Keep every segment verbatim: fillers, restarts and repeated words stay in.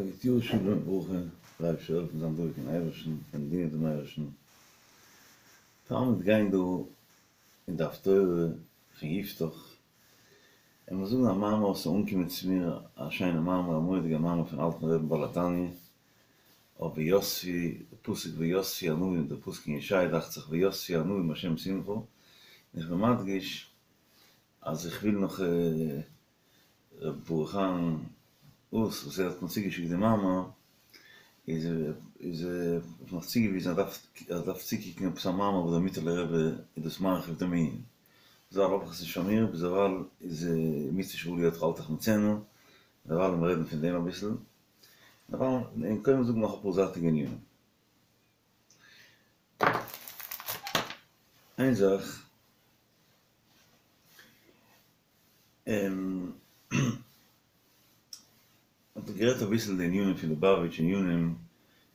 גוט יאר שלום וברכה, דער אייבערשטער זאל העלפן זיין דבוק אין אייבערשטן און דינען דעם אייבערשטן. תלמיד גיין דא אין די הפטורה פון יפתח, און מיר זאגן א מאמר וואס איז אנגעקומען צו מיר, א שיינע מאמר, א מורא'דיגע מאמר פון אלטן רבי'ן בעל התניא, אויף ויספו, די פסוק ויספו ענווים, די פסוק אין ישעי' דאכט זיך ויספו ענווים בהשם שמחה, און איך בין מדגיש אז איך וויל נאך ר' ברוך אהרן אוס וואס ער האט מיר צוגעשיקט די מאמר, איז איז ער האט מיך צוגעוויזן אז ער דארף צוקוקן עפעס א מאמר וואס דער מיטעלער רבי איז דאס מרחיב דעם ענין, ביזדערווייל האב איך עס נישט פאר מיר, ביזדערווייל איז מצוה שבא לידך אל תחמיצנה, דערווייל לאמיר רעדן פון דעם אביסל, דערווייל און קודם זאגן נאך אפאר זייטיגע ענינים. איין זאך. און מ'האט גערעדט אביסל די ענינים פון ליובאוויטש ענינים,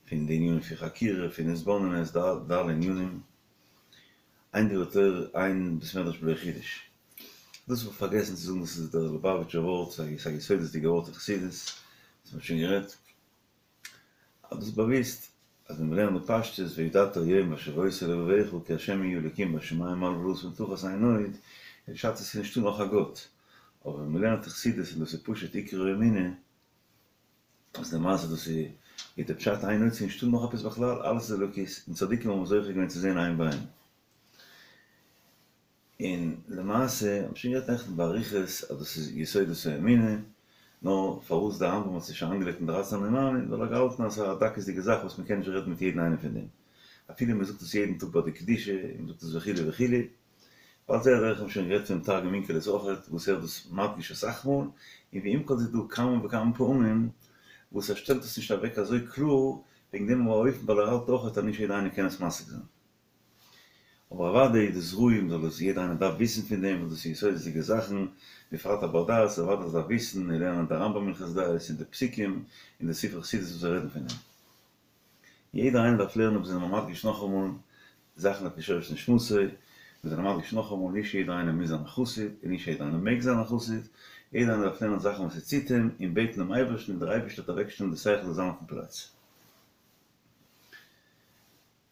פון די ענינים פון חקירה, פון התבוננות, די אלע ענינים, אין דבר תורה אין בית מדרש בלא חידוש. דאס האב איך פארגעסן צו זאגן דאס איז דער ליובאוויטשער ווארט, ס'איז א יסודות'דיגע ווארט אין חסידות, דאס האט מען שוין גערעדט. אז דאס איז באוויסט אז ווען מ'לערנט די פשטות וידעת היום והשבות אל לבבך כי ה' הוא האלקים בשמים ממעל ובארץ מתחת אין עוד, איז פשט עס איז נישטא נאך א גאט, אבער ווען מ'לערנט חסידות און דאס איז פשוט עיקר האמונה, אז למעשה דאס איז איז די פשט אין עוד ס'איז נישטא נאך עפעס בכלל אלעס איז אלוקות און צדיקים האבן זוכה געווען צו זען עין בעין. און למעשה האב איך שוין גערעדט נעכטן באריכות אז דאס איז יסודות האמונה, נאר פארוואס דער רמב ם האט עס נישט אריינגעלייגט אין דרייצן אני מאמין, ווייל ער האט געהאלטן אז עס איז א דקות'דיגע זאך וואס מען קען נישט רעדן מיט יעדן איינעם פון דעם, אפילו מען זאגט עס יעדן טאג ביי די קדושה, און מען זאגט עס וכו' וכו', ועל זה דרך האב איך שוין גערעדט פונעם תרגום אונקלוס אויכעט וואס ער האט דאס מדגיש אסאך מאל, און ועם כל זה איז דא כמה וכמה פעמים וואס ער שטעלט עס נישט אוועק אזוי קלאר, וועגן דעם אופן ווייל ער האלט אויכעט אז נישט יעדער איינער קען עס משיג זיין. אבער אוודאי איז דאס ראוי מ'זאל עס יעדער איינער דארף וויסן פון דעם ווייל דאס איז יסודות'דיגע זאכן, בפרט א בר דעת אוודאי דארף וויסן און לערנען די רמב ם הלכות דעות און די פסוקים און די ספרי חסידות וואס זיי רעדן פון דעם. יעדער איינער דארף לערנען מיר זענען מדגיש נאכאמאל זאכן על פי שורש נשמתו, מיר זענען מדגיש נאכאמאל נישט יעדער איינער מוז זיין א חסיד און נישט יעדער איינער מעג זיין א חסיד, יעדער איינער דארף לערנען זאכן וואס ס'ציט אים און בעטן דעם אייבערשטן און דער אייבערשטער וועט אוועקשטעלן די שכל זאל זיין אויפן פלאץ.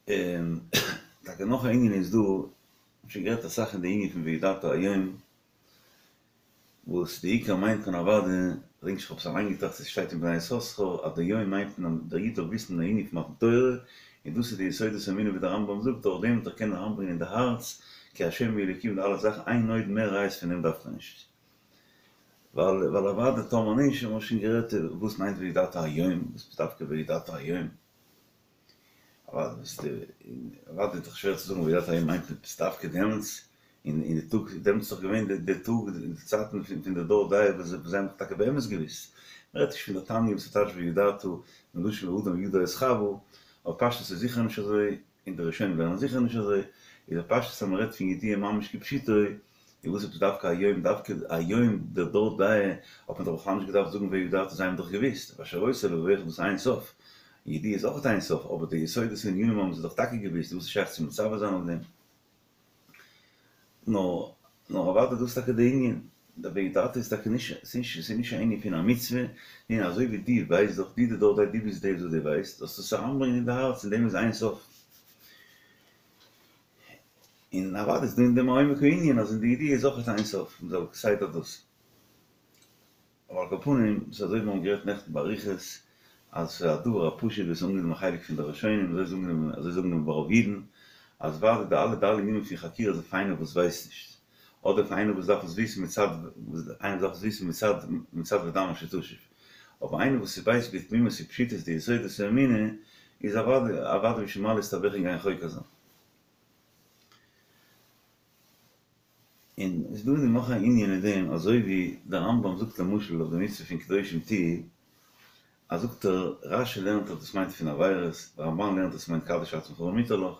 און טאקע נאך א ענין איז דא, מ'האט שוין גערעדט אסאך אין די ענין פון וידעת היום, וואס די עיקר מיינט מען אוודאי, כ'דענק נישט כ'האב עס אריינגעטראכט עס שטייט אין בני יששכר אז די יום מיינט מען אז דער איד זאל וויסן די ענין פון מתן תורה, און דאס איז די יסודות האמונה ווי דער רמב ם זאגט, דורך דעם וועט ער קענען אריינברענגען אין די הארץ כי ה' הוא האלקים די אלע זאכן, אין עוד מער ראיות פון דעם דארף מען נישט. ווייל ווייל אוודאי טאמער נישט, האבן מיר שוין גערעדט וואס מיינט וידעת היום, וואס איז דווקא וידעת היום. אוודאי איז דאך שווער צו זאגן וידעת היום מיינט עפעס דווקא דעמאלטס, אין די טאג, דעמאלטס איז דאך געווען די טאג אין די צייטן פון די דור דעה וואס זיי האבן דאך טאקע באמת געוואוסט, מען רעדט נישט פון די תניא וואס טייטש וידעת מלשון ואדם ידע את חוה, אבער פשטות איז זיכער נישט אזוי, און די ראשונים לערנען זיכער נישט אזוי, איז א פשטות אז מען רעדט פון ידיעה ממש כפשוטו, און וואס עפעס דווקא היום, דווקא היום דער דור דעה האט מען דאך בכלל נישט געדארפט זאגן וידעת זיי האבן דאך געוואוסט, והשבות אל לבבך דאס אין סוף, ידיעה איז אויך אין סוף, אבער די יסודות און ענינים האבן זיי דאך טאקע געוואוסט, וואס איז שייך צו מצווה זיין אויף דעם? נאר נאר אוודאי דאס איז טאקע די ענין, די וידעת איז טאקע נישט, ס'איז נישט א ענין פון א מצוה, און אזוי ווי דו ווייסט דאך, דו די דור דעה, דו ביסט דער וואס דו ווייסט, זאלסטו עס אריינברענגען אין די הארץ, אין דעם איז אין סוף. און אוודאי איז דא אין דעם א עומק הענין אז אין די ידיעה איז אויך אין סוף, מ'זאל כסדר דאס. אבער על כל פנים, ס'איז אזוי ווי מיר האבן גערעדט נעכטן באריכות, אז ס'איז א דבר הפשוט ווי עס איז אנגענומען א חלק פון די ראשונים, אזוי איז אנגענומען, אזוי איז אנגענומען ביי רוב אידן, אז אוודאי די אלע ד' ענינים פון חקירה איז אויף איינער וואס ווייסט נישט, אדער פאר איינער וואס דארף עס וויסן מצד, איינער וואס דארף עס וויסן מצד, מצד ודם אשר תשיב. אבער איינער וואס ווייסט בתמימות ופשיטות די יסודות האמונה, איז אוודאי, אוודאי בשביל מה להסתבך און גיין חוקר זיין. און עס איז דא אין דעם נאך א ענין אין דעם, אזוי ווי דער רמב ם זאגט למשל אויף די מצוה פון קדושים תהיו, אז זאגט ער, רש י לערנט אז דאס מיינט פון עבירות, דער רמבן לערנט אז עס מיינט קדש עצמך במותר לך,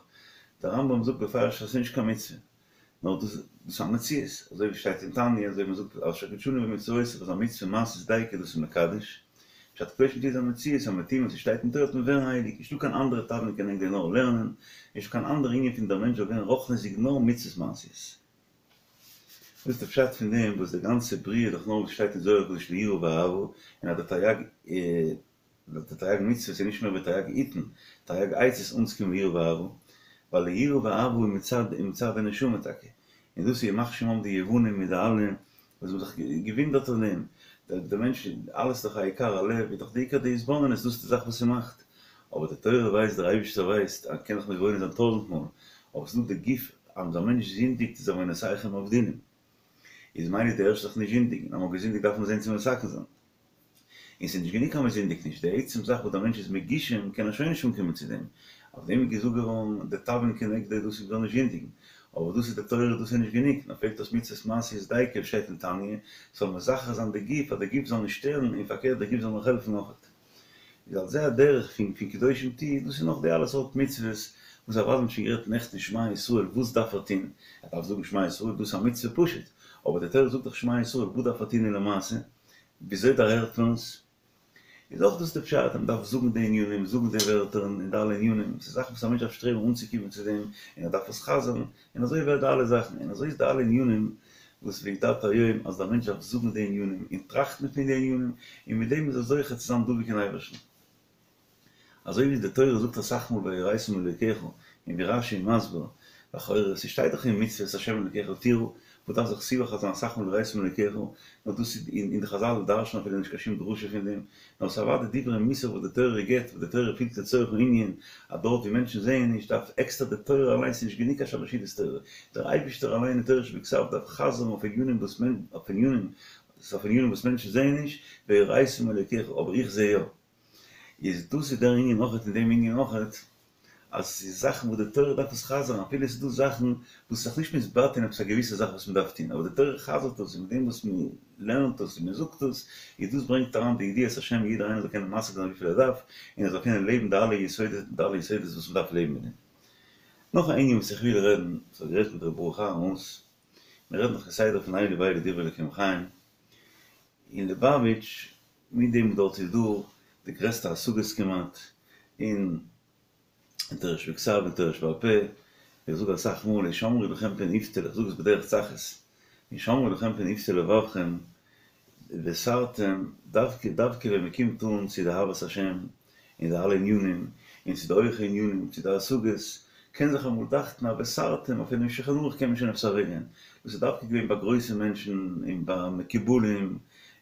דער רמב ם זאגט בפירוש אז עס איז נישט קיין מצוה, נאר דאס איז א מציאות, אזוי ווי שטייט אין תניא, אזוי ווי מען זאגט אשר קדשנו במצוותיו איז א מצוה מעשית דייקא דאס איז מקדש, פשט קדושים תהיו איז א מציאות אז מ'וועט טון וואס ס'שטייט אין תורה וועט מען ווערן הייליג, נישטא קיין אנדערע תבלין כנגד נאר לערנען, נישטא קיין אנדערע ענין פון דער מענטש זאל ווערן רוחניות'דיג נאר מצוות מעשיות. וואס איז די פשט פון דעם וואס די גאנצע בריאה איז דאך נאר וואס שטייט אין זוהר הקדוש ליראה ואהבה, און אז די תריג די תרי"ג מצוות איז נישט מער ווי תרי"ג עיטין, תרי"ג עצות אנצוקומען יראה ואהבה, ווייל די יראה ואהבה איז מצד מצד די נשמה טאקע, און דאס איז ימח שמם די יוונים מיט די אלע וואס האבן זיך געווינדערט אויף דעם, דער מענטש, אלעס איז דאך העיקר הלב, איז דאך די עיקר די התבוננות, דאס איז די זאך וואס ס'מאכט, אבער די תורה ווייסט, דער אייבערשטער ווייסט, אז מ'קען זיך מתבונן זיין טויזנט מאל, אבער ס'איז דא די גוף, אז א מענטש זינדיגט איז עוונותיכם אבדינם, איז ממילא איז די ערשטע זאך נישט זינדיגן, אז מ'האט געזינדיגט דארף מען זען צו מתקן זיין. און ס'איז נישט גענוג אז מ'זינדיגט נישט, די עצם זאך וואס דער מענטש איז מגושם קען ער שוין נישט אנקומען צו דעם, אויף דעם איז געזאגט געווארן די תבלין כנגדו דאס איז מ'זאל נישט זינדיגן, אבער דאס איז די תורה דאס איז נישט גענוג, נאר פעלט אויס מצוות מעשיות דייקא ווי שטייט אין תניא, ס'זאל מזכך זיין די גוף אז די גוף זאל נישט שטערן און פארקערט די גוף זאל נאך העלפן אויכעט. איז על זה הדרך פון פון קדושים תהיו, דאס איז נאך די אלע סארט מצוות וואס אוודאי מ'האט שוין גערעדט נעכטן שמע ישראל וואס דארף ער טון, ער דארף זאגן שמע ישראל דאס איז א מצוה פשוט, אבער די תורה זאגט דאך שמע ישראל וואס דארף ער טון אין למעשה? וויאזוי דערהערט מען עס? איז אויך דאס די פשט אז מען דארף זאגן די ענינים, זאגן די ווערטער און די אלע ענינים, ס'איז זאכן וואס א מענטש דארף שטרעבן אנצוקומען צו דעם, און ער דארף עס חזר'ן, און אזוי ווערט די אלע זאכן, און אזוי איז די אלע ענינים וואס וידעת היום אז דער מענטש דארף זאגן די ענינים און טראכטן פון די ענינים, און מיט דעם איז ער זוכה צו זיין דבוק אין אייבערשטן. אזוי ווי די תורה זאגט אסאך מאל ויראת מאלוקיך, און ווי רש"י איז מסביר, לכאורה ס'שטייט דאך אין מצוות השם אלוקיך תירא, וואס דארף זיך סיבך זיין אסאך מאל ויראת מאלוקיך, נאר דאס איז אין די חז"ל דרש'ן אפילו נישט קיין שום דרשה פון דעם, נאר ס'איז אוודאי דברי מוסר וואס די תורה גיבט, וואס די תורה פילט לצורך הענין, אז דארט ווי מענטשן זעען נישט דארף עקסטער די תורה אליינס איז נישט גענוג קיין שלש סעודות תורה, דער אייבישטער אליין אין תורה שבכתב דארף חזר'ן אויף ענינים וואס אויף ענינים אויף ענינים וואס מענטשן זעען נישט, ויראת מאלוקיך, אבער איך זע יא. איז דאס איז דער ענין אויכעט אין דעם ענין אויכעט, אז עס איז זאכן וואס די תורה דארף עס חזר'ן, אפילו עס איז דא זאכן וואס איז זיך נישט מתבטא אין עפעס א געוויסע זאך וואס מען דארף טון, אבער די תורה חזר'ט עס, און מיט דעם וואס מען לערנט עס און מען זאגט עס, איז דאס ברענגט אריין די ידיעת השם יעדער איינער זאל קענען משיג זיין וויפיל ער דארף, און ער זאל קענען לעבן די אלע יסודות די אלע יסודות וואס מען דארף לעבן מיט דעם. נאך א ענין וואס איך וויל רעדן, וואס איך האב גערעדט מיט ר' ברוך אהרן אויס, מיר רעדן דאך כסדר פון אלו ואלו דברי אלוקים חיים, אין ליבאוויטש מיט דעם וואס דארט איז דא די גרעסטע השגות כמעט אין תורה שבכתב און תורה שבעל פה, איך זאג אסאך מאל השמרו לכם פן יפתה, איך זאג עס בדרך צחות, השמרו לכם פן יפתה לבבכם וסרתם, דווקא דווקא ווען מען קומט אן צו די אהבת השם און די אלע ענינים, און צו די הויכע ענינים, צו די השגות, קען זיך אמאל דאכטן אז וסרתם, אפילו אין שולחן ערוך קען מען שוין עפעס אוועקגיין. דאס איז דווקא געווען ביי גרויסע מענטשן און ביי מקובלים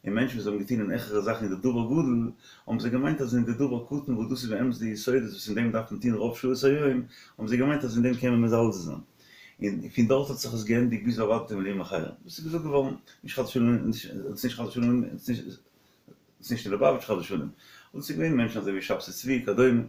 און מענטשן וואס האבן געטון אין העכערע זאכן אין די דבר גדול, האבן זיי געמיינט אז אין די דבר קטן וואס דאס איז באמת די יסודות וואס אין דעם דארף מען טון רוב שעות היום, האבן זיי געמיינט אז אין דעם קען מען מזלזל זיין. און פון דארט האט זיך עס געענדיגט ביז ואבדתם לאומים אחרים. דאס איז געזאגט געווארן, נישט חס ושלום, נישט חס ושלום, ס'איז נישט אין ליובאוויטש חס ושלום, און ס'איז געווען מענטשן אזוי ווי שבתי צבי וכדומה,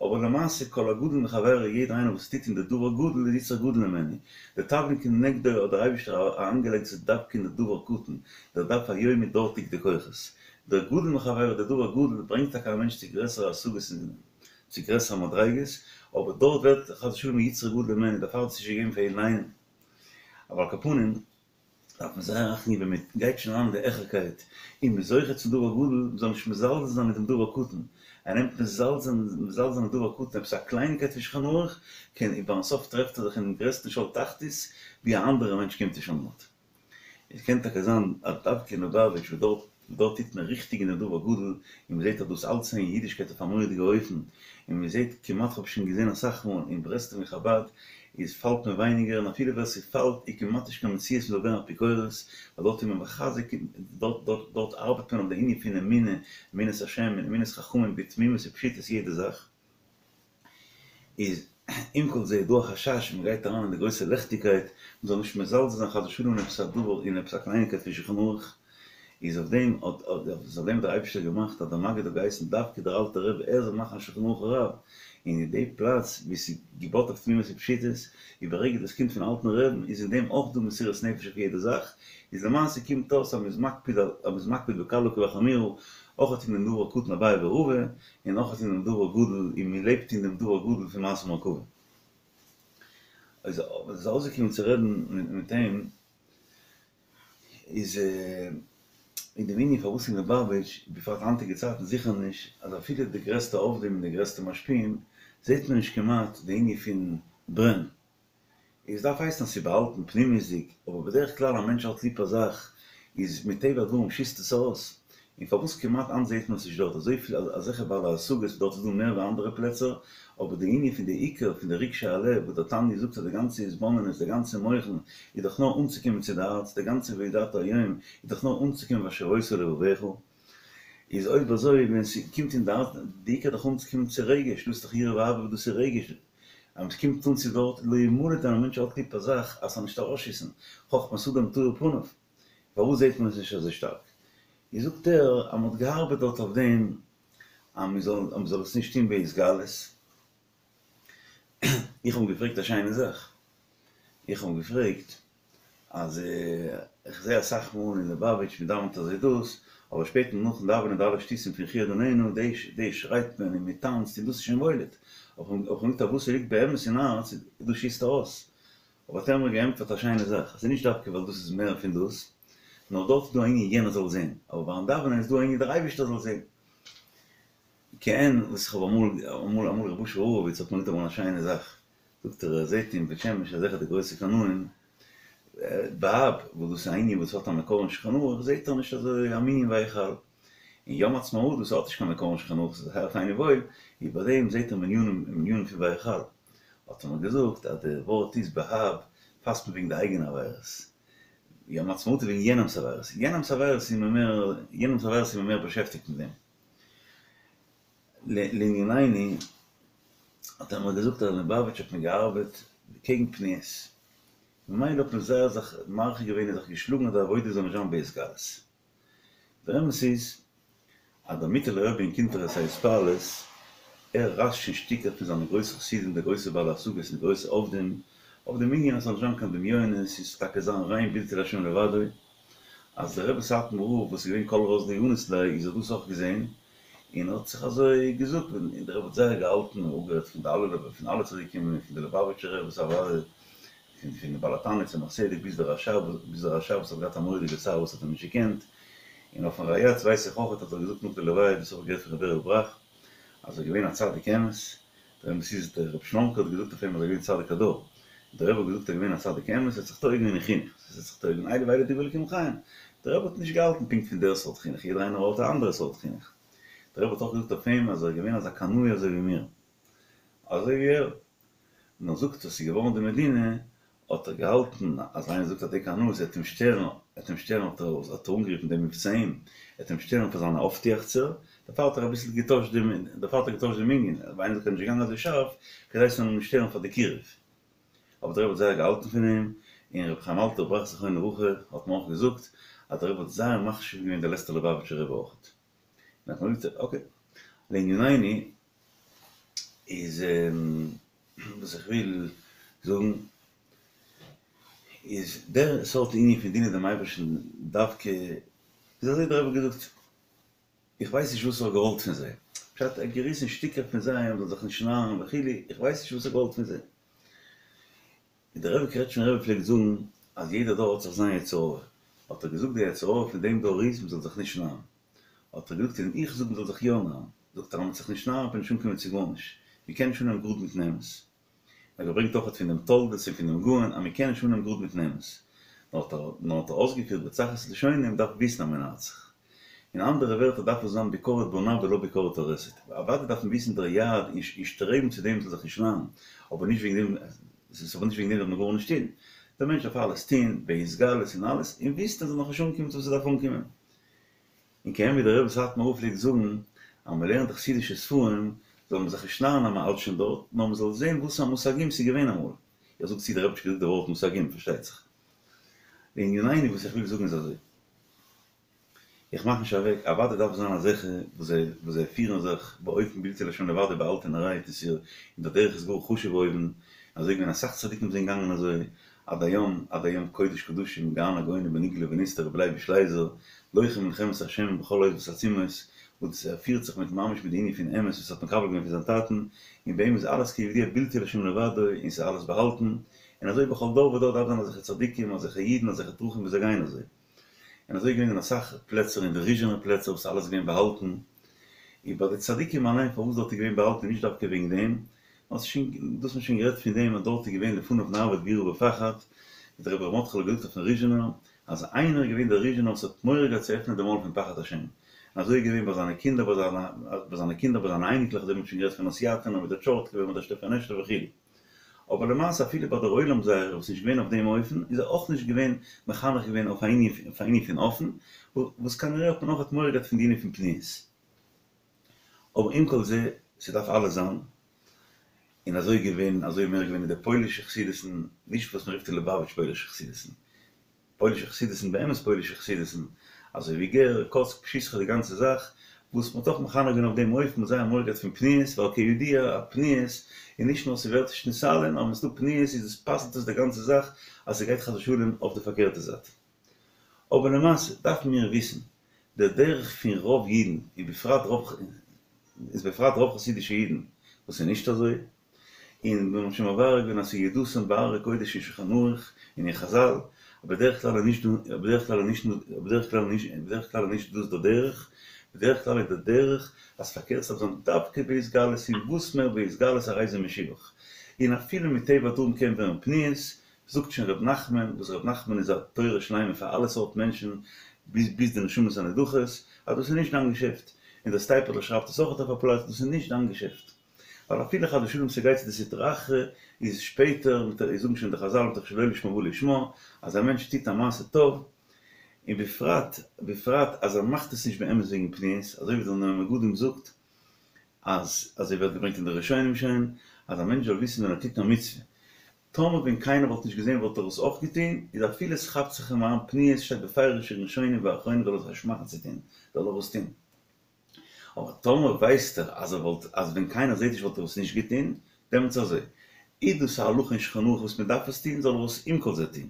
אבער למעשה כל הגדול מחבירו יעדער איינער וואס טוט אין די דבר גדול איז יצרו גדול ממנו, די תבלין כנגדו האט דער אייבישטער אריינגעלייגט ס'איז דווקא אין די דבר קטן, דער דף היומי דארט ליגט די כוחות, דער גדול מחבירו דער דבר גדול ברענגט טאקע א מענטש צו גרעסערע השגות און צו גרעסערע מדריגות, אבער דארט ווערט חס ושלום יצרו גדול ממנו, דערפאר האט עס נישט געגעבן פאר יעדן איינעם, אבער על כל פנים. דארף מען זייער אכטונג געבן ווען מען גייט שוין אריין אין די העכערקייט און מען איז זוכה צום דבר גדול, מען זאל נישט מזלזל זיין מיט דעם דבר קטן, ער נעמט מזלזל מזלזל זיין אין דבר קטן עפעס א קלייניקייט פון שולחן ערוך, קען און ביים סוף טרעפט ער זיך אינעם גרעסטן שאול תחתית ווי א אנדערע מענטש קומט נישט אן דארט. עס קען טאקע זיין אז דווקא אין לובאוויטש וואס דארט דארט טוט מען ריכטיג אין דעם דבר גדול, און מען זעט אז דאס אלץ אין אידישקייט אויף א מורא'דיגע אופן, און מען זעט כמעט כ'האב שוין געזען אסאך מאל אין ברסלב און חבד איז פאלט מען ווייניגער און אפילו ווער ס'פאלט איז כמעט נישט קיין מציאות מ'זאל ווערן אפיקורס, ווייל דארט איז מען מחזק דארט דארט דארט ארבעט מען אויף די ענין פון אמונה, אמונת השם און אמונת חכמים בתמימות ופשיטות יעדע זאך. איז עם כל זה איז דא א חשש מען גייט אריין אין די גרויסע לעכטיגקייט, מען זאל נישט מזלזל זיין חס ושלום אין עפעס א דבר אין עפעס א קלייניקייט פון שולחן ערוך, איז אויף דעם האט איז אויף דעם האט דער אייבישטער געמאכט אז דער מגיד האט געהייסן דווקא דער אלטער רבי ער זאל מאכן א שולחן ערוך הרב, און אין די פלאץ ווי ס'איז געבויט אויף תמימות ופשיטות, איז ברגע דאס קומט פון אלטן רעבן איז אין דעם אויך דא מסירות נפש אויף יעדע זאך, איז למעשה קומט אויס אז מ'איז מקפיד אז מ'איז מקפיד בקלה כבחמורה, אויך אין דעם דבר קטן אביי ורבא, און אויך אין דעם דבר גדול, און מען לעבט אין דעם דבר גדול פון מעשה מרכבה. איז איז אויסגעקומען צו רעדן מיט אים, איז אין דעם ענין פארוואס אין ליובאוויטש, בפרט היינטיגע צייטן זיכער נישט, אז אפילו די גרעסטע עובדים און די גרעסטע משפיעים, זעט מען נישט כמעט די ענין פון ברען. עס דארף הייסן אז ס'איז באהאלטן פנימיות'דיג, אבער בדרך כלל א מענטש האט ליב א זאך, איז מטבע הדברים שיסט עס ארויס, און פארוואס כמעט היינט זעהט מען עס נישט דארט אזויפיל אזעלכע בעלי השגות דארט איז דא מער ווי אנדערע פלעצער, אבער די ענין פון די עיקר פון די רגשי הלב וואס דער תניא זאגט אז די גאנצע התבוננות די גאנצע מוחין איז דאך נאר אנצוקומען צו די הארץ, די גאנצע וידעת היום איז דאך נאר אנצוקומען והשבות אל לבבך, איז אויב אזוי ווען ס'קומט אין די הארץ, די עיקר איז דאך אנצוקומען צו רגש, דאס איז דאך יראה ואהבה וואס דאס איז רגש, אז מ'קומט אן צו דארט לא ימלט ווען א מענטש האט ליב א זאך אז ס'זאל נישט ארויסשיסן, חכמת אדם תאיר פניו, פארוואס זעט מען עס נישט אזוי שטארק? איז זאגט ער אז מ'האט געארבעט דארט אויף דעם אז מ'זאל אז מ'זאל עס נישט טון בהתגלות. איך האב אים געפרעגט א שיינע זאך, איך האב אים געפרעגט אז איך זע אסאך מאל אין ליובאוויטש מ'דאווענט אזוי דאס, אבער שפעטער נאכן דאווענען די אלע שטותים פון לכו אדונינו, דאס שרייט מען און מ'טאנצט און דאס איז שוין מולד, האב איך אים געזאגט אז וואס ס'ליגט באמת אין הארץ דאס שיסט ארויס, אבער האט ער מיר געענטפערט א שיינע זאך, עס איז נישט דווקא ווייל דאס איז מער פון דאס, נאר דארט איז דא א ענין יענער זאל זען, אבער ביים דאווענען איז דא א ענין דער אייבערשטער זאל זען. כעין וואס איך האב אמאל, אמאל אמאל ר' אשר הורוויץ האט מיר געזאגט אמאל א שיינע זאך, זאגט ער ער זעט אין בית שמש אזעלכע די גרויסע קנאים, באב, וואס דאס איז א ענין וואס האט א מקור אין שולחן ערוך, זעט ער נישט אזוי א מנין ויחל. און יום עצמאות וואס האט נישט קיין מקור אין שולחן ערוך, ס'איז זייער פיין און וואויל, איז ביי דעם זעט ער מנינים מנינים פון ויחל. האט ער מיר געזאגט אז די ווארט איז באב פאסט מען וועגן די אייגענע עבירות, יום העצמאות איז וועגן יענעמס עבירות, יענעמס עבירות איז מען מער, יענעמס עבירות איז מען מער באשעפטיגט מיט דעם. לענינינו האט ער מיר געזאגט אז אין ליובאוויטש האט מען געארבעט קעגן פניות, ממילא האט מען זייער זיך מרחיק געווען און זיך געשלאגן אז די עבודה זאל נישט זיין בהתגלות. דער אמת איז אז דער מיטעלער רבי אין קונטרס ההתפעלות, ער רייסט שוין שטיקער פון זיינע גרויסע חסידים די גרויסע בעלי השגות און די גרויסע עובדים, אויף דעם ענין אז ס'זאל נישט זיין קיין דמיונות, ס'זאל טאקע זיין ריין בלתי להשם לבדו, אז דער רבי סאטמאר רב וואס איז געווען כל רז לא אניס ליה איז האט דאס אויך געזען און האט זיך אזוי געזאגט און דער רבי האט זייער געהאלטן און אפגערעדט פון די אלע פון אלע צדיקים און פון די ליובאוויטשער רביס אוודאי פון פון בעל התניא צמח צדק ביז דער רש"ב ביז דער רש"ב וואס האט געהאט א מורא'דיגע צער וואס האט אים נישט געקענט, און אויפן ריי"צ ווייס איך אויכעט האט ער געזאגט נאך די לוויה דאס האב איך געהערט פון ר' בערל בראך אז ער איז געווען א צדיק אמת, דער אמת איז דער רבי שלומ'קע האט געזאגט אויף אים אז ער איז געווען צדיק הדור, דער רבי האט געזאגט ער איז געווען א צדיק אמת ער האט זיך טועה געווען אין חינוך, ער האט זיך טועה געווען אלו ואלו דברי אלקים חיים, דער רבי האט נישט געהאלטן פונקט פון דער סארט חינוך, יעדער איינער האט א אנדערע סארט חינוך, דער רבי האט אויך געזאגט אויף אים אז ער איז געווען אזא קנאי אזוי ווי מיר, אזוי ווי ער. נאר זאגט אז ס'איז געווארן די מדינה, האט ער געהאלטן אז איינער זאגט אז די קנאות וועט אים שטערן, וועט אים שטערן האט ער האט ער אנגערופן די מבצעים, וועט אים שטערן פאר זיינע אויפטועכצער, דערפאר האט ער אביסל געטוישט דעם, דערפאר האט ער געטוישט דעם ענין, ווייל איינער זאגט ער איז נישט געגאנגען אזוי שארף, כדי ס'זאל אים נישט שטערן פאר די קירוב. אבער דער רבי האט זייער געהאלטן פון אים, און רבי חיים אלטער בראך זכרונו לברכה האט מיר אויך געזאגט אז דער רבי האט זייער מחשיב געווען דער לעצטער ליובאוויטשער רבי אויך. אקעי, לענינינו איז וואס איך וויל זאגן איז דער סארט ענין פון דינען דעם אייבערשטן דווקא איז אזוי דער רבי האט געזאגט איך ווייס נישט וואס ער האט געוואלט פון זיי פשט ער האט געריסן שטיקער פון זיי אז מ'זאל זיך נישט נארן וכו' איך ווייס נישט וואס ער האט געוואלט פון זיי. און דער רבי קרעטשמער רבי פלעגט זאגן אז יעדער דור האט זיך זיין יצר הרע האט ער געזאגט די יצר הרע פון דעם דור איז מ'זאל זיך נישט נארן האט ער געזאגט און איך זאג מ'זאל זיך יא נארן, זאגט ער אז מ'וועט זיך נישט נארן וועט מען נישט אנקומען צו גארנישט, מ'קען נישט אנהייבן גראד מיטן אמת. ער האט געברענגט אויכעט פון דעם תולדות און פון דעם גאון אז מ'קען נישט אנהייבן גראד מיטן אמת. נאר האט ער נאר האט ער אויסגעפירט בצחות לשונו מ'דארף וויסן אז מ'נארט זיך. אין אנדערע ווערטער דארף עס זיין ביקורת בונה ולא ביקורת הורסת. אוודאי דארף מען וויסן דער יעד און שטרעבן צו דעם מ'זאל זיך נישט נארן, אבער נישט וועגן דעם ס'איז אבער נישט וועגן דעם דארף מען גארנישט טון. דער מענטש דארף אלעס טון, בהתגלות און אלעס, און וויסן אז ער נאכנישט אנגעקומען צו וואס ער דארף אנקומען. און כעין ווי דער רבי סאטמאר רב פלעגט זאגן, אז מען לערנט די חסידישע ספרים, זאל מען זיך נישט נארן אז מען האלט שוין דארט, נאר מען זאל זען וואס א מושגים ס'איז געווען אמאל. איך זאג צו דער רבי האט נישט געזאגט די ווארט מושגים, פארשטייט זיך. לענינינו וואס איך וויל זאגן איז אזוי. איך מאך נישט אוועק, אוודאי דארף זיין אזעלכע וואס זיי וואס זיי פירן זיך באופן בלתי להשם לבדו באהאלטענערהייט און ס'איז און דער דרך איז גאר חשוב אויבן, אזוי געווען אסאך צדיקים זענען געגאנגען אזוי, עד היום, עד היום קודש קדשים גאון הגאונים בנגלה ונסתר רבי לייביש לייזער, לוחם מלחמת השם בכל עת ובתעצומות, וואס ער פירט זיך מיט ממש מיט די ענין פון אמת וואס ער האט מקבל געווען פון זיין טאטן, און ביי אים איז אלעס כידוע בלתי להשם לבדו און ס'איז אלעס באהאלטן, און אזוי בכל דור ודור דארף זיין אזעלכע צדיקים, אזעלכע אידן, אזעלכע דרכים וואס זיי גייען אזוי. און אזוי געווען אין אסאך פלעצער אין די ריזשינער פלעצער וואס איז אלעס געווען באהאלטן, און ביי די צדיקים אליין פארוואס דארט איז געווען באהאלטן איז נישט דווקא וועגן דעם, נאר ס'איז שוין, דאס האט מען שוין גערעדט פון דעם אז דארט איז געווען לפניו נעבוד ביראה ופחד, ווי דער רבי ר' מרדכי'לע האט געזאגט אויפן ריזשינער אז איינער איז געווען דער ריזשינער וואס האט מורא געהאט צו עפענען די מויל פון פחד השם, און אזוי איז געווען ביי זיינע קינדער, ביי זיינע קינדער, ביי זיינע אייניקלעך, אזוי ווי מ'האט שוין גערעדט פון הוסיאטין, מיט די טשורטקובער, מיט די שטעפענעשטער וכו'. אבער למעשה אפילו ביי דער עולם זייערע וואס איז נישט געווען אויף דעם אופן, איז ער אויך נישט געווען מחנך געווען אויף א ענין פון אפן, וואס כנראה האט מען אויך מורא געהאט פון די ענין פון פניות. אבער עם כל זה, ס'דארף אלעס זיין, און אזוי געווען, אזוי מער געווען אין די פוילישע חסידות'ן, נישט וואס מ'רופט אין ליובאוויטש פוילישע חסידות'ן, פוילישע חסידות'ן, באמת פוילישע חסידות'ן, אזוי ווי גער, קאצק, פשיסחא די גאנצע זאך, וואס מ'האט אויך מחנך געווען אויף דעם אופן, מ'האט זייער מורא געהאט פון פניות, ווייל כידוע א פניות איז נישט נאר ס'ווערט נישט נתעלה, נאר ווען ס'דא פניות איז עס פסל'ט עס די גאנצע זאך אז ס'גייט חס ושלום אויף די פארקערטע זייט. אבער למעשה דארפן מיר וויסן, דער דרך פון רוב אידן, און בפרט רוב איז בפרט רוב חסידישע אידן, וואס איז נישט אזוי, און מיר האבן שוין מברר געווען אז ס'איז ידעתם בהררי קודש אין שולחן ערוך און אין חזל, אבער בדרך כלל איז נישט דא, בדרך כלל איז נישט, בדרך כלל איז נישט, בדרך כלל איז נישט דאס דער דרך, בדרך כלל איז דער דרך אז פארקערט ס'דארף זיין דווקא בהתגלות און וואס מער בהתגלות הרי זה משובח, און אפילו מטבע הדברים קען ווערן פניות, זאגט שוין ר' נחמן, וואס ר' נחמן איז א תורה שלימה פאר אלע סארט מענטשן ביז ביז די נשמות הנדחות, אז דאס איז נישט דיין געשעפט, און דער סטייפלער שרייבט עס אויך אויף א פלאץ, דאס איז נישט דיין געשעפט. ווייל אפילו חס ושלום ס'גייט צו די סטרא אחרא, איז שפעטער, מיט א, זאגן שוין די חזל מתוך שלא לשמה בא לשמה, אז א מענטש טוט א מעשה טוב, און בפרט, בפרט אז ער מאכט עס נישט באמת וועגן פניות, אזוי ווי דער נועם מגדים זאגט, אז, אזוי ווערט געברענגט אין די ראשונים שוין, אז א מענטש זאל וויסן ווען ער טוט א מצוה, טאמער ווען קיינער וואלט נישט געזען וואלט ער עס אויך געטון, איז אפילו עס כאפט זיך אים אריין פניות שטייט בפירוש אין ראשונים ואחרונים זאל ער זיך נישט מאכן צו טון, זאל ער עס טון. אבער טאמער ווייסט ער אז ער וואלט אז ווען קיינער זעט נישט וואלט ער עס נישט געטון, דעמאלטס אזוי. איז דאס א הלכה אין שולחן ערוך וואס מען דארף עס טון זאל ער עס עם כל זה טון.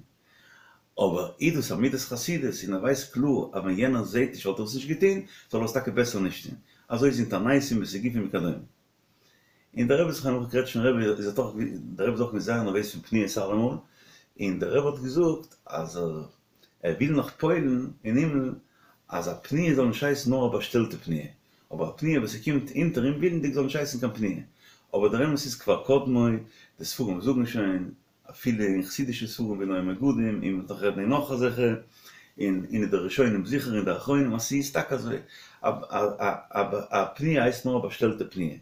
אבער איז דאס א מידת חסידות און ער ווייסט קלאר אז ווען יענער זעט נישט וואלט ער עס נישט געטון, זאל ער עס טאקע בעסער נישט טון. אזוי איז אין תעניתים וסיגופים וכדומה. און דער רבי זכרונו לברכה קרעטשניפער רבי איז דאך דער רבי איז אויך געווען זייער נערוועז פון פניות אלעמאל, און דער רבי האט געזאגט אז ער ער וויל נאך פועל'ן אין הימל אז א פניה זאל נישט הייסן נאר א באשטעלטע פניה, אבער א פניה וואס ס'קומט אונטער אומווילנדיג זאל נישט הייסן קיין פניה. אבער דער אמת איז כבר קדמו, די ספרים זאגן שוין, אפילו אין חסידישע ספרים ווי נועם מגדים, און מ'וועט נאך רעדן אין נאך אזעלכע, און אין די ראשונים זיכער און די אחרונים אז ס'איז טאקע אזוי, א פניה הייסט נאר א באשטעלטע פניה,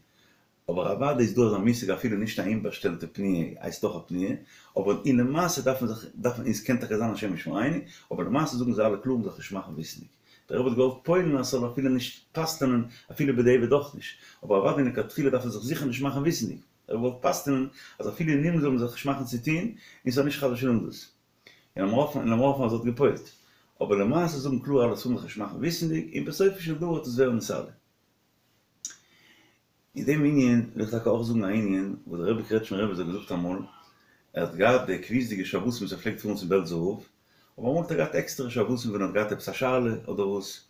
אבער אוודאי איז דא אזא מושג אפילו נישט א אומבאשטעלטע פניה הייסט אויך א פניה, אבער אין למעשה דארף מען זיך, דארף מען, און ס'קען טאקע זיין השם ישמרינו, אבער למעשה זאגן זיי אלע קלאר מ'זאל זיך נישט מאכן וויסנדיג. דער רבי האט געוואלט פועל'ן אז ס'זאל אפילו נישט פסל'ענען אפילו בדיעבד אויך נישט, אבער אוודאי לכתחילה דארף מען זיך זיכער נישט מאכן וויסנדיג. ער האט געוואלט פסל'ענען אז אפילו אין הימל זאל מען זיך נישט מאכן צו טוהן, און ס'זאל נישט חס ושלום דאס. און לאמיר האפן און לאמיר האפן אז ער האט געפועלט. אבער למעשה זאגן קלאר אלע ספרים זיך נישט מאכן וויסנדיג, און בסופו של דבר וועט עס ווערן נתעלה. אין דעם ענין וויל איך טאקע אויך זאגן א ענין וואס דער רבי קרעטשמער רבי האט געזאגט אמאל, ער האט געהאט די קביעות'דיגע שבתים וואס ער פלעגט פארן צום בעלזער רב, אבער אמאל האט ער געהאט עקסטערע שבתים ווען ער האט געהאט עפעס א שאלה אדער וואס,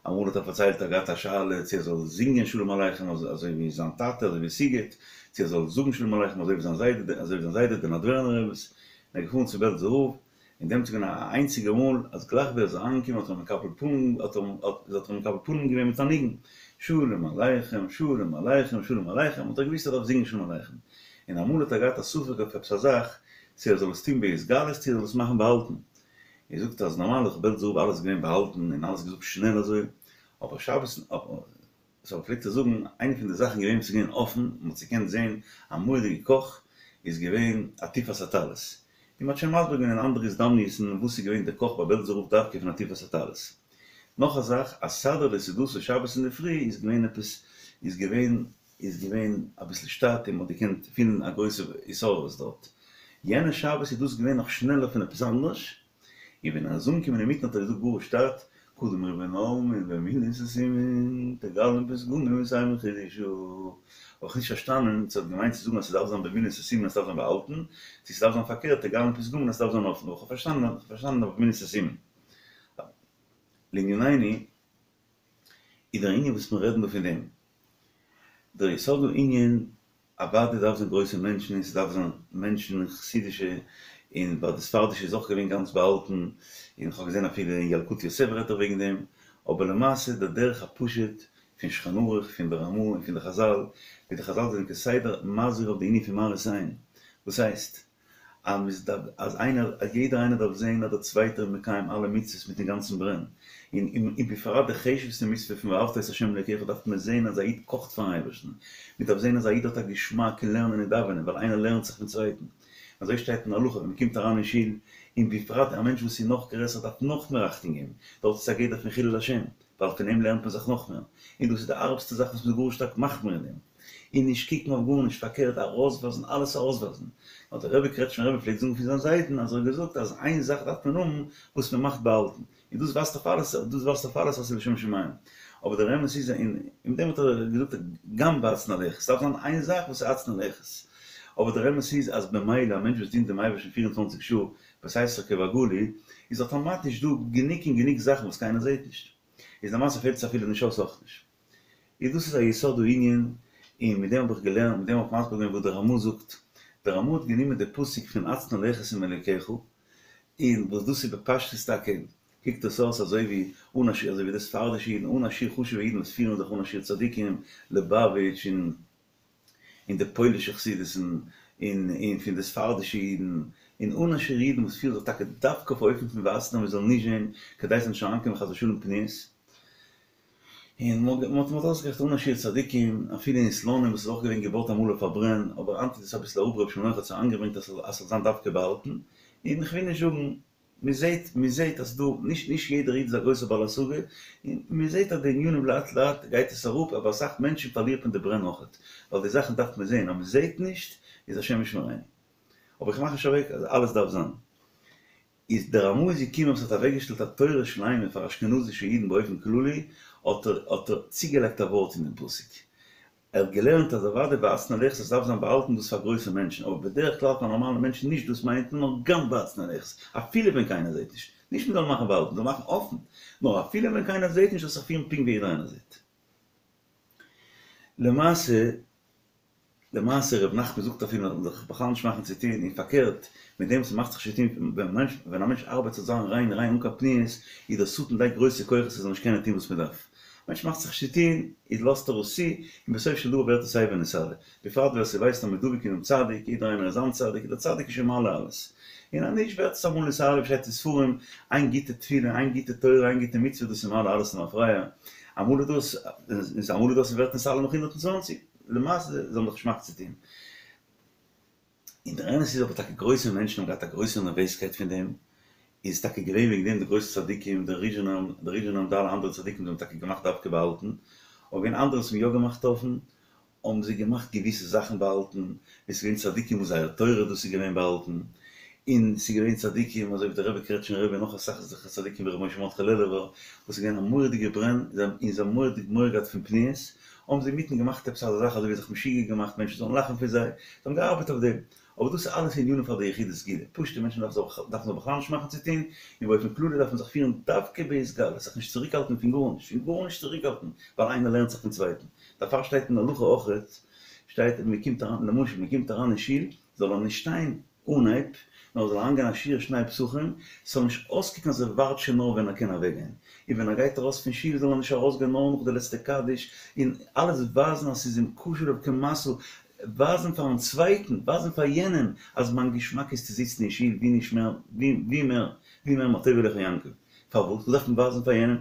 אמאל האט ער פארציילט ער האט געהאט א שאלה צו ער זאל זינגען שלום עליכם אזוי ווי זיין טאטע אזוי ווי סיגוט, צו ער זאל זאגן שלום עליכם אזוי ווי זיין זיידע אזוי ווי זיין זיידע דער נאדווערנער רבי, און ער איז געפארן צו בעלזער רב, און דעמאלטס איז געווען א איינציגע מאל אז גלייך ווי ער איז אריינגעקומען האט ער אים מקבל פנים האט ער האט ער מקבל פנים געווען מיט א ניגון, שלום עליכם שלום עליכם שלום עליכם, האט ער געוואוסט ער דארף זינגען שלום עליכם, און אמאל האט ער געהאט א ספק אויף עפעס א זאך צו ער זאל עס טון בהתגלות צו ער זאל עס מאכן באהאלטן, ער זאגט אז נארמאל איז בעלזער רב אלעס געווען באהאלטן און אלעס געזאגט שנעל אזוי, אבער שבת סאו פלעגט ער זאגן איינע פון די זאכן געווען וואס איז געווען אפן און מ'האט געקענט זען א מורא'דיגע קאך איז געווען עטיפת הטלית, און מ'האט שוין מסביר געווען אין אנדערע הזדמנות'ן וואס איז געווען די קאך ביי בעלזער רב דווקא פון עטיפת הטלית. נאך א זאך אז סדר לסעודתא שבת אינדערפרי איז געווען עפעס איז געווען איז געווען אביסל שטאט און מ'האט געקענט פילן א גרויסע התעוררות דארט. יענע שבת איז דאס געווען נאך שנעלער פון עפעס אנדערש, און ווען ער איז אנגעקומען אינמיטן האט ער געזאגט גאר שטאט, קדם ריבון עלמין במילין סתימין תגלין פתגמין ותימא חידושא. האב איך נישט פארשטאנען צו ער האט געמיינט צו זאגן אז ס'דארף זיין במילין סתימין אז ס'דארף זיין באהאלטן, צו ס'דארף זיין פארקערט תגלין פתגמין אז ס'דארף זיין אפן, אבער כ'האב פארשטאנען כ'האב פארשטאנען אויף במילין סתימין. לענינינו, איז דער ענין וואס מיר רעדן דא פון דעם, דער יסוד הענין, אוודאי דארף זיין גרויסע מענטשן און ס'דארף זיין מענטשן חסידישע, און ביי די ספרדישע איז אויך געווען גאנץ באהאלטן, און כ'האב געזען אפילו אין ילקוט יוסף רעדט ער וועגן דעם, אבער למעשה דער דרך הפשוט פון שולחן ערוך, פון די רמ"א און פון די חז"ל, ווי די חז"ל זענען כסדר מזהיר אויף די ענין פון מראית עין, וואס הייסט? אז איינער, אז יעדער איינער דארף זען אז דער צווייטער איז מקיים אלע מצוות מיטן גאנצן ברען, און און בפרט די חשוב'סטע מצוה פון ואהבת את ה' אלוקיך דארף מען זען אז א איד קאכט פארן אייבערשטן, מען דארף זען אז א איד האט א געשמאק אין לערנען און דאווענען, ווייל איינער לערנט זיך פון צווייטן. אזוי שטייט אין הלכה ווען מען קומט אריין אין שול, און בפרט א מענטש וואס איז נאך גרעסער דארף נאך מער אכטונג געבן, דארט איז א גדר פון חילול השם, ווייל פון אים לערנט מען זיך נאך מער, און דאס איז די הארבסטע זאך וואס מען איז גאר שטארק מחמיר אין דעם, און נישט קוקן אויף גארנישט, פארקערט ארויסווייזן, אלעס ארויסווייזן. האט דער רבי קרעטשמער רבי פלעגט זאגן פון זיין זיידן אז ער האט געזאגט אז איין זאך דארף מען האבן וואס מען מאכט באהאלטן, און דאס ווייזט אויף אלעס, דאס ווייזט אויף אלעס אז ס'איז לשם שמים. אבער דער אמת איז, און מיט דעם האט ער געזאגט גם בהצנע לכת, ס'דארף זיין איין זאך וואס איז הצנע לכת. אבער דער אמת איז אז במילא א מענטש וואס דינט דעם אייבערשטן פֿיר און צוואַנציק שעה בסתר כבגלוי, איז אטאמאטיש דא גענוג און גענוג זאכן וואס קיינער זעט נישט. איז למעשה פעלט עס אפילו נישט אויס אויך נישט. איז דאס איז א יסוד הענין, און מיט דעם האב איך געלערנט, מיט דעם האב איך מסביר געווען וואס דער רמ"א זאגט. דער רמ"א האט גענומען די פסוק פון הצנע לכת עם אלוקיך, און וואס דאס איז בפשטות טאקע, קוקט עס אויס אזוי ווי אן א שיעור, אזוי ווי די ספרדישע אידן, אן א שיעור חשוב'ע אידן וואס פירן זיך אן א שיעור צדיקים, ליבאוויטש און און די פוילישע חסידות'ן, און און פון די ספרדישע אידן, און אן א שיעור אידן וואס פירן זיך טאקע דווקא אויף אופן פון והצנע מען זאל נישט זען, כדי ס'זאל נישט אריינקומען חס ושלום פניות. און מען האט אויסגערעכנט אן א שיעור צדיקים, אפילו אין סלאנים וואס איז אויך געווען געבויט אמאל אויף א ברען, אבער היינט איז עס אביסל אראפ רבי שלום האט עס אריינגעברענגט אז ס'זאל זיין דווקא באהאלטן, און איך וויל נישט זאגן, מען זעט מען זעט אז דא, נישט נישט יעדער איד איז א גרויסער בעל השגה, און מען זעט אז די ענינים לאט לאט גייט עס אראפ, אבער אסאך מענטשן פארלירט מען די ברען אויכעט, ווייל די זאכן דארף מען זען, אז מען זעט נישט איז השם ישמרינו. אבער איך מאך נישט אוועק אז אלעס דארף זיין. איז דער רמ"א איז געקומען וואס האט אוועקגעשטעלט א תורה שלימה פאר אשכנזישע אידן באופן כללי, האט ער האט ער צוגעלייגט א ווארט אין דעם פסוק. ער האט געלערנט אז אוודאי והצנע לכת עס דארף זיין באהאלטן דאס פאר גרויסע מענטשן, אבער בדרך כלל פאר נארמאלע מענטשן נישט דאס מיינט מען נאר גם והצנע לכת, אפילו ווען קיינער זעט נישט. נישט מען זאל מאכן באהאלטן, זאל מאכן אפן, נאר אפילו ווען קיינער זעט נישט זאל זיך פירן פונקט ווי יעדער איינער זעט. למעשה. למעשה ר' נחמן זאגט אפילו מען זאל זיך בכלל נישט מאכן צו טון, און פארקערט, מיט דעם וואס מען מאכט זיך נישט צו טון, ווען א מענטש ארבעט צו זיין ריין ריין אן קיין פניות, איז דער שטן לייגט גרויסע כוחות ער זאל נישט קענען טון וואס מען דארף. א מענטש מאכט זיך נישט צו טון, איז לאזט ער עס צו, און בסוף של דבר ווערט עס סייווי נתעלה. בפרט ווער ס'ווייסט אז מען דבוק אינעם צדיק, יעדער איינער איז זיין צדיק, דער צדיק איז שוין מעלה אלעס. און אז נישט ווערט עס אמאל נתעלה ווי שטייט אין ספרים, איין גוטע תפילה, איין גוטע תורה, איין גוטע מצוה דאס איז מעלה אלעס למפרע. אמאל איז דאס, אמאל איז דאס ס'ווערט נתעלה נאך הונדערט און צוואַנציק. למעשה זיי האבן זיך נישט געמאכט צו טון. און דער אמת איז אבער טאקע גרויסע מענטשן האבן געהאט א גרויסע נערוועזקייט פון דעם, איז טאקע געווען וועגן דעם די גרויסע צדיקים, דער ריזשינער, דער ריזשינער און די אלע אנדערע צדיקים זיי האבן טאקע געמאכט דווקא באהאלטן, אבער געווען אנדערע וואס האבן יא געמאכט אפן, האבן זיי געמאכט געוויסע זאכן באהאלטן, ווי ס'איז געווען צדיקים וואס זייער תורה דאס איז געווען באהאלטן, און ס'איז געווען צדיקים אזוי ווי דער רבי קרעטשניפער רבי און נאך אסאך אזעלכע צדיקים ווי ר' משה מרדכי לעלובער וואס איז געווען א מורא'דיגע ברען און זיי האבן מורא'דיג מורא געהאט פון פניות, האבן זיי אינמיטן געמאכט עפעס אזא זאך אזוי ווי זיך משוגע געמאכט מענטשן זאלן לאכן פון זיי, זיי האבן געארבעט אויף דעם, אבער דאס איז אלעס ענינים פאר די יחידי סגולה, פשוטע מענטשן דארפן זיך דארפן זיך בכלל נישט מאכן צו טון, און באופן כללי דארף מען זיך פירן דווקא בהתגלות, זיך נישט צוריקהאלטן פון גארנישט, פון גארנישט צוריקהאלטן, ווייל איינער לערנט זיך פון צווייטן, דערפאר שטייט אין הלכה אויכעט, שטייט אז מען קומט אריין, למשל מען קומט אריין אין שול, זאל ער נישט שטיין אנהייב, נאר זאל אריינגיין א שיעור שני פתחים, ס'זאל נישט אויסקוקן אז ער ווארט שוין נאר ווען ער קען אוועקגיין, און ווען ער גייט ארויס פון שול זאל ער נישט ארויסגיין נאר נאך די לעצטע קדיש, און אלעס ווייזן אז ס'איז אים קשה עליו כמשא, ווייזן פארן צווייטן, ווייזן פאר יענעם אז מיין געשמאק איז צו זיצן אין שול ווי נישט מער, ווי מער, ווי מער מה טובו אהליך יעקב. פארוואס? וואס דארף מען ווייזן פאר יענעם?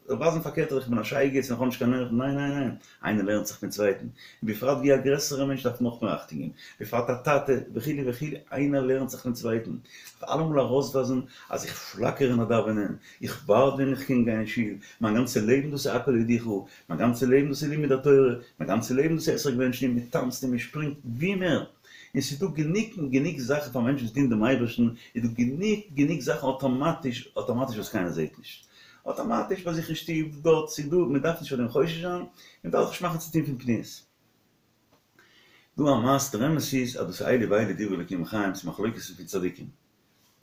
ווייזן פארקערט אז איך בין א שייגעץ און איך האב נישט קיין נערוון, ניין ניין ניין, איינער לערנט זיך פון צווייטן, און בפרט ווי א גרעסערע מענטש דארף נאך מער אכטונג געבן, בפרט א טאטע וכו' וכו', איינער לערנט זיך פון צווייטן, דארף אלעמאל ארויסווייזן אז איך פלאקער אין א דאווענען, איך ווארט ווען איך קען גיין אין שול, מיין גאנצע לעבן דאס איז הכל יודוך, מיין גאנצע לעבן דאס איז לימוד התורה, מיין גאנצע לעבן דאס איז אתרוג בענטשן און מען טאנצט און מען שפרינגט, ווי מער, און ס'איז דא גענוג און גענוג זאכן פאר מענטשן וואס דינען דעם אייבערשטן, איז דא גענוג גענוג זאכן אטאמאטיש אטאמאטיש וואס קיינער זעט נישט. אטאמאטיש ביי זיך אין שטוב, דארט, ס'איז דא, מען דארף נישט פאר דעם חושש זיין, מען דארף זיך נישט מאכן צו טון פון פניות. דא א מעשה, דער אמת איז אז דאס איז אלו ואלו דברי אלוקים חיים, ס'איז מחלוקת פון צדיקים.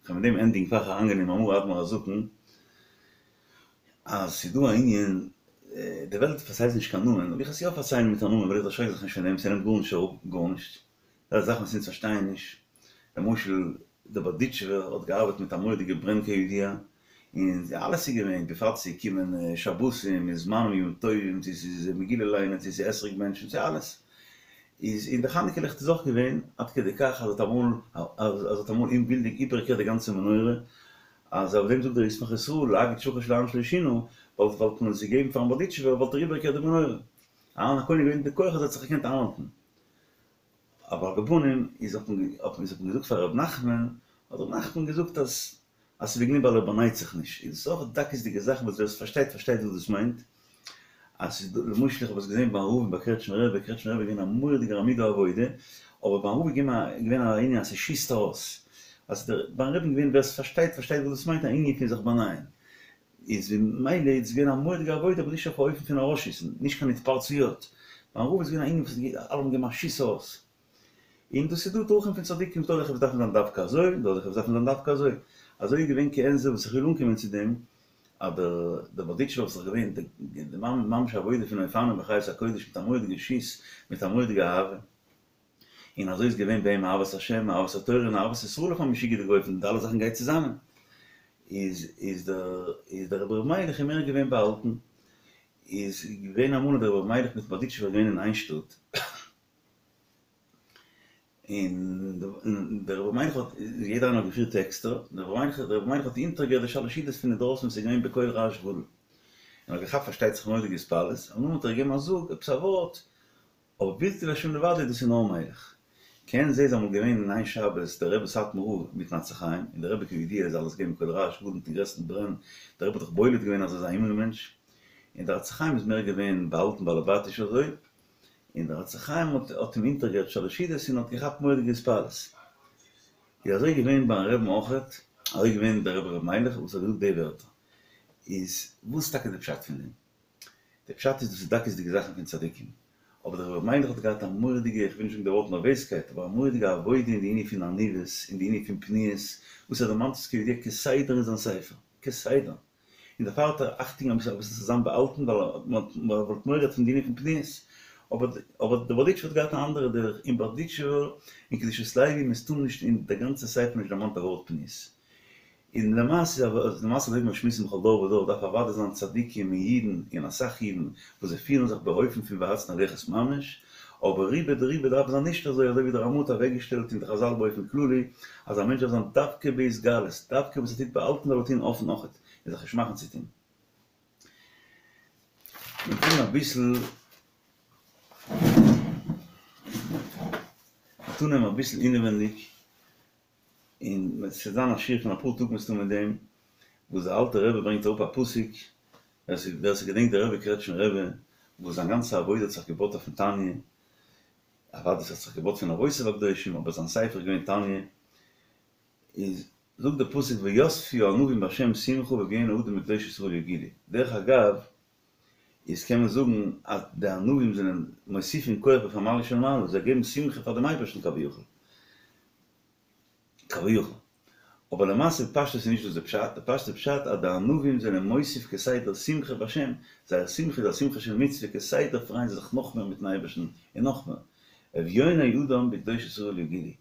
כ'וועל מיט דעם ענדיגן פאר כ'גיי אריינגיין אין מאמר אדמו"ר הזקן, אז ס'איז דא א ענין, די וועלט פארציילט נישט קיין נאמען, אבער איך וועל עס יא פארציילן מיט א נאמען ווייל איך דערשרעק זיך נישט פון דעם, ס'נעמט גארנישט אראפ גארנישט, דאס איז זאכן וואס אונז פארשטייען נישט, למשל דער בארדיטשובער האט געארבעט מיט א מורא'דיגע ברען כידוע, און אלעס איז געווען, בפרט ס'איז געקומען שבתים און זמנים ימים טובים, צו ס'איז מגילה ליינען, צו ס'איז אתרוג בענטשן, צו אלעס. איז אין די חנוכה ליכט איז אויך געווען עד כדי כך אז האט אמאל אז האט אמאל אומווילדיג איבערגעקערט די גאנצע מנורה, אז אויף דעם זאגט דער ישמח ישראל להגיד שחש לאהרן שלא שינה, וואלט וואלט מען עס געגעבן פארן בארדיטשובער וואלט ער איבערגעקערט די מנורה. אהרן הכהן איז געווען די כח אז ער האט זיך געקענט איינהאלטן. אבער על כל פנים איז האט מען האט מען געזאגט פאר ר' נחמן, האט ר' נחמן געזאגט אז אז ס'איז וועגן דעם ווייל ער באנייט זיך נישט. איז דאס אויך דקות'דיגע זאכן וואס ווער עס פארשטייט פארשטייט וואס דאס מיינט. אז ס'איז דא, למשל איך האב עס געזען ביים רב און ביי קרעטשמער רבי, קרעטשמער רבי איז געווען א מורא'דיגער עמוד העבודה, אבער ביים רב איז געווען א ענין אז ס'שיסט ארויס. אז דער ביים רבי'ן געווען ווער ס'פארשטייט פארשטייט וואס דאס מיינט א ענין פון זיך באנייען. איז ממילא איז געווען א מורא'דיגע עבודה אבער נישט אויף א אופן פון ארויסשיסן, נישט קיין התפרצויות. ביים רב איז געווען א ענין וואס אלע האבן געגעבן א שיס ארויס. און דאס איז דא דרכים פון צדיקים, ס'דא אזעלכע וואס דארפן זיין דווקא אזוי, און דא אזעלכע וואס דארפן זיין דווקא אזוי. אזוי איז געווען כעין זה וואס איך וויל אנקומען צו דעם, אז דער דער בארדיטשובער וואס איז געווען די ממש עבודה פון אופנים וחיות הקודש מיט א מורא'דיגע שיס, מיט א מורא'דיגע אהבה. און אזוי איז געווען ביי אים אהבת השם, אהבת התורה און אהבת ישראל אויף א משוגע'דיגע אופן, די אלע זאכן גייט צוזאמען. איז איז דער איז דער רבי ר' מיילעך איז מער געווען באהאלטן. איז געווען אמאל אז דער רבי ר' מיילעך מיטן בארדיטשובער געווען אין איין שטאט. און דער רבי מיילעך האט, יעדער איינער האט געפירט עקסטער, דער רבי מיילעך דער רבי מיילעך האט אונטערגעהערט די שלש סעודות פון אינדרויסן וואס איז געווען בקול רעש גדול. און האט געכאפט פארשטייט זיך מורא'דיגע התפעלות, און נאכדעם האט ער געגעבן א זאג עפעס א ווארט, אבער בלתי להשם לבדו דאס איז נאר מיילעך. כעין זה איז אמאל געווען אין איין שבת דער רבי סאטמאר רב מיטן עצי חיים, און דער רבי כידוע איז אלעס געווען בקול רעש גדול מיטן גרעסטן ברען, דער רבי האט דאך בולט געווען אז ער איז א הימל מענטש, און דער עצי חיים איז מער געווען באהאלטן באלעבאטיש אזוי, און דער עצי חיים האט האט אים אונטערגעהערט שלש סעודות און האט געכאפט מורא'דיגע התפעלות. איז אזוי געווען ביים רבי'ן אויכעט, אזוי געווען דער רבי ר' מיילעך וואס האט געזאגט די ווערטער. איז וואס איז טאקע די פשט פון דעם? די פשט איז דאס איז דקות'דיגע זאכן פון צדיקים. אבער דער רבי מיילעך האט געהאט א מורא'דיגע, איך וויל נישט זאגן די ווארט נערוועזקייט, אבער א מורא'דיגע עבודה אין די ענין פון עניוות, אין די ענין פון פניות, וואס ער דערמאנט עס כידוע כסדר אין זיין ספר. כסדר. און דערפאר האט ער אכטונג אביסל אביסל צו זיין באהאלטן ווייל מען וואלט מורא געהאט פון די ענין פון פניות. אבער אבער דער בארדיטשובער האט געהאט א אנדערע דרך, אין בארדיטשובער אין קדושת לוי מסתמא נישט אין די גאנצע ספר נישט דערמאנט א ווארט פניות. און למעשה למעשה אזוי ווי מיר שמועסן בכל דור ודור דארף אוודאי זיין צדיקים און אידן און אסאך אידן וואס זיי פירן זיך באופן פון והצנע לכת ממש, אבער רובא דרובא דארף זיין נישט אזוי אזוי ווי דער רמ"א האט אוועקגעשטעלט און די חז"ל באופן כללי אז א מענטש דארף זיין דווקא בהתגלות, דווקא וואס ער טוט באהאלטן זאל ער טון אפן אויכעט און זיך נישט מאכן צו טון. מיר טוען אביסל מיר טוען אביסל אינעווענדיג. און עס וועט זיין א שיעור פון אפאר טאג מסתמא מיט דעם, וואס דער אלטער רבי ברענגט אראפ א פסוק, ווער ס'געדענקט דער רבי קרעטשמער רבי, וואס זיין גאנצע עבודה האט זיך געבויט אויפן תניא, אוודאי ס'האט זיך געבויט פון אבותיו הקדושים, אבער זיין ספר איז געווען תניא, איז זאגט דער פסוק ויספו הענווים בהשם שמחה ואביוני האדם בקדוש ישראל יגילו, דרך אגב איז קען מען זאגן אז די ענווים זענען מוסיפין כח בפמליא של מעלה, זיי געבן שמחה פאר דעם אייבערשטן כביכול. כביכול. אבער למעשה בפשטות איז נישט דאס די פשט, די פשוט'ע פשט אז די ענווים זענען מוסיף כסדר שמחה בהשם, זייער שמחה איז א שמחה של מצוה, כסדר פרייען זיי זיך נאך מער מיטן אייבערשטן און נאך מער. אביוני אדם בקדוש ישראל יגילו.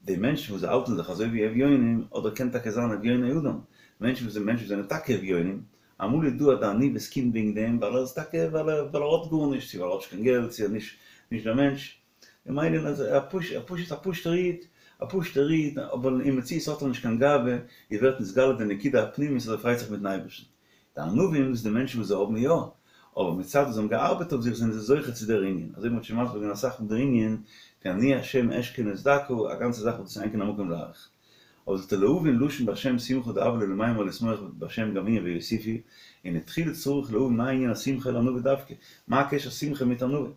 די מענטשן וואס זיי האלטן זיך אזוי ווי אביונים, אדער קען טאקע זיין אביוני אדם, מענטשן וואס מענטשן וואס זענען טאקע אביונים, אמאל איז דא אז די עניוות קומט וועגן דעם ווייל ער איז טאקע ווייל ער האט גארנישט, צו ווייל ער האט נישט קיין געלט, צו ער איז נישט דער מענטש, ממילא איז ער פשוט א פשוט'ער איד, א פשוט'ער איד, אבער אין מציאות האט ער נישט קיין גאווה, איז ווערט נתגלה די נקודה הפנימית אז ער פרייט זיך מיט'ן אייבערשטן. די ענווים איז די מענטשן וואס זיי האבן יא, אבער מצד וואס זיי האבן געארבעט אויף זיך זענען זיי זוכה צו דער ענין, אזוי ווי מ'האט שוין מסביר געווען אסאך מאל דער ענין פון אני השם אשכון את דכא, א גאנצע זאך וואס דאס איז אין כאן המקום להאריך. אבער זאגט ער להבין לשון בהשם שמחה דהוה ליה למימר לשמוח בהשם גם הוא ויוסיפו, און תחילה צריך להבין מה ענין השמחה לענווה דווקא, מה הקשר שמחה מיט ענווה?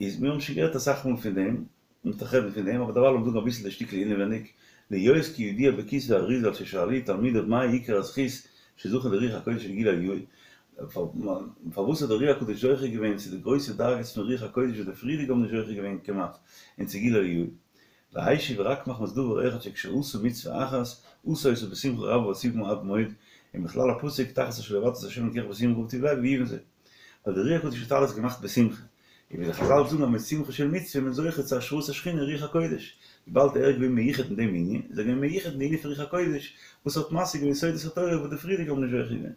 איז מיר האבן שוין גערעדט אסאך מאל פון דעם, מ'וועט נאך רעדן פון דעם, אבער דערווייל לאמיר זאגן אביסל די שטיקל אינעווייניג, להיות כידוע בכתבי האריז"ל ששאלו תלמידיו מה עיקר הזכות שזכה לרוח הקודש וגילוי אליהו, פארוואס האט דער אר"י הקדוש זוכה געווען צו די גרויסע דרגות פון רוח הקודש וואס די פריערדיגע האבן נישט זוכה געווען כמעט, און צו גילוי אליהו. והשיב רק מחמת דבר אחד שכשעשה מצוה אחת, עשה אותה בשמחה רבה ועצובה עד מאוד, ומכלל הפסוק תחת אשר לא עבדת את ה' אלקיך בשמחה ובטוב לב יובן זה. ווייל דער אר"י הקדוש האט אלעס געמאכט בשמחה. און ווי די חז"ל זאגן אז מיט שמחה של מצוה איז מען זוכה צו השראת השכינה און רוח הקודש. וויבאלד ער איז געווען מיוחד אין דעם ענין, איז ער געווען מיוחד אין די ענין פון רוח הקודש, וואס האט משיג געווען סודות התורה וואס די פריערדיגע האבן נישט זוכה געווען.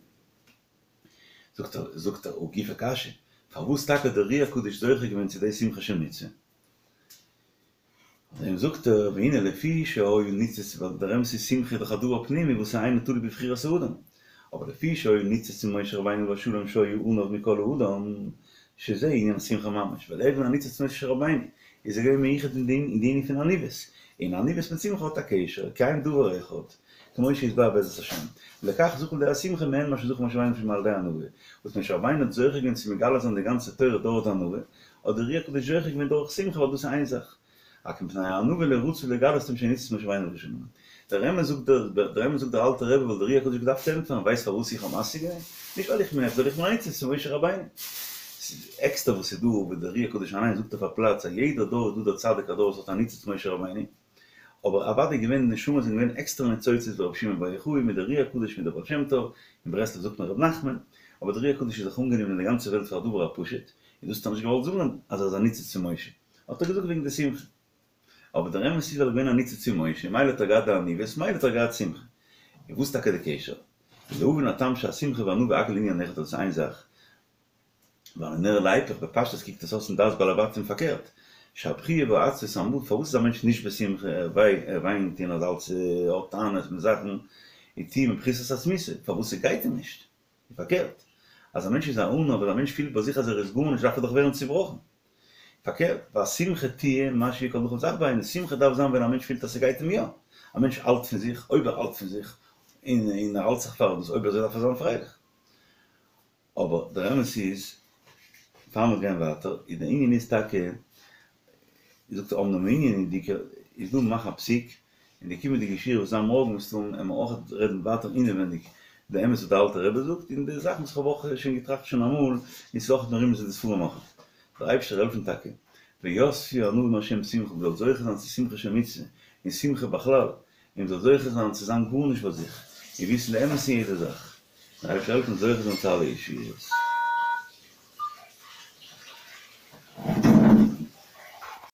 זאגט ער, זאגט ער, הא גופא קשיא, פארוואס טאקע האט דער אר"י הקדוש זוכה געווען צו די שמחה של מצוה? דעם זאגט ער, והנה לפי שהיה ניצוץ, ווייל דער אמת איז שמחה איז דאך א דבר פנימי וואס איז אינו תלוי בבחירת האדם, אבער לפי שהיה ניצוץ אין משה רבינו עליו השלום שהיה עניו מכל האדם, שזה ענין השמחה ממש, ווייל ער איז געווען א ניצוץ משה רבינו, איז ער געווען מיוחד אין די ענין פון עניוות, און עניוות מיט שמחה האט א קשר, כי הם דבר אחד, כמו שיתבאר בעזרת השם. לכך זכה לידי השמחה מעין מה שזכה משה רבינו על ידי ענווה, וואס משה רבינו האט זוכה געווען צו מגלה זיין די גאנצע תורה דורך די ענווה, האט דער אר"י הקדוש זוכה געווען דורך שמחה ווייל דאס איז איין זאך. רק מפני הענווה לא רצו לגלות להם שהוא ניצוץ משה רבינו הראשון. דער אמת זאגט דער דער אמת זאגט דער אלטער רבי וואלט דער אר"י הקדוש געדארפט ענטפערן ווייסט פארוואס איך האב משיג געווען? נישט ווייל איך בין עכט ווייל איך בין א ניצוץ פון משה רבינו. ס'איז עקסטער וואס איז דא וואס דער אר"י הקדוש אליין זאגט אויף א פלאץ אז יעדער דור איז דא דער צדיק הדור וואס האט א ניצוץ משה רבינו. אבער אוודאי געווען נשמות זענען געווען עקסטערע ניצוצות ווי רבי שמעון בר יוחאי מיט דער אר"י הקדוש מיט דער בעל שם טוב, אין ברסלב זאגט מען רבי נחמן, אבער דער אר"י הקדוש איז דאך אנגענומען אין די גאנצע וועלט פאר א דבר הפשוט, און דאס האט ער נישט געוואלט זאגן אז ער איז א ניצוץ פון משה, האט ער געזאגט וועגן די שמחה. אבער דער אמת איז ווייל ער איז געווען א ניצוץ פון משה, מילא האט ער געהאט די עניוות, מילא האט ער געהאט שמחה. און וואס איז טאקע די קשר? ולהבין הטעם שהשמחה והענווה הכל ענין אחד דאס איז איין זאך, והלא נראה להיפך, בפשטות קוקט עס אויס אין דעת בעלי בתים פארקערט, שהבכיה והעצבות אמרו, פארוואס איז א מענטש נישט בשמחה, ער וויינט און האט אלץ האט טענות מיט זאכן, און תהיה מפחיתת עצמותו, פארוואס ס'גייט אים נישט, און פארקערט, אז א מענטש איז א עניו, אז א מענטש פילט ביי זיך אז ער איז גארנישט דארף ער דאך ווערן צובראכן. פארקערט, והשמחה תהיה מה שיהיה כל דכלים זך בעיני, שמחה דארף זיין ווען א מענטש פילט אז ס'גייט אים יא, א מענטש האלט פון זיך, אויב ער האלט פון זיך, און ער האלט זיך פאר דאס, אויב אזוי דארף ער זיין פרייליך. אבער דער אמת איז, פאר מיר גייען ווייטער, איז דער ענין איז טאקע, זאגט ער אמנם ענין די איז דא מאך א פסיק, אין די קומענדיגע שיעור וואס זיין מארגן מסתם וועלן מיר אויך רעדן ווייטער אינעווענדיג די אמת וואס דער אלטער רבי זאגט, און די זאכן וואס איך האב אויך שוין געטראכט שוין אמאל, און ס'איז אויך מרומז אין די ספרים אויך. דער אייבערשטער זאל העלפן טאקע, ויספו ענווים מהשם שמחה, מ'זאל זוכה זיין צו שמחה של מצוה, און שמחה בכלל, און מ'זאל זוכה זיין צו זיין גארנישט ביי זיך, און וויסן די אמת אין יעדע זאך. דער אייבערשטער זאל העלפן זוכה זיין צו אלע ישועות.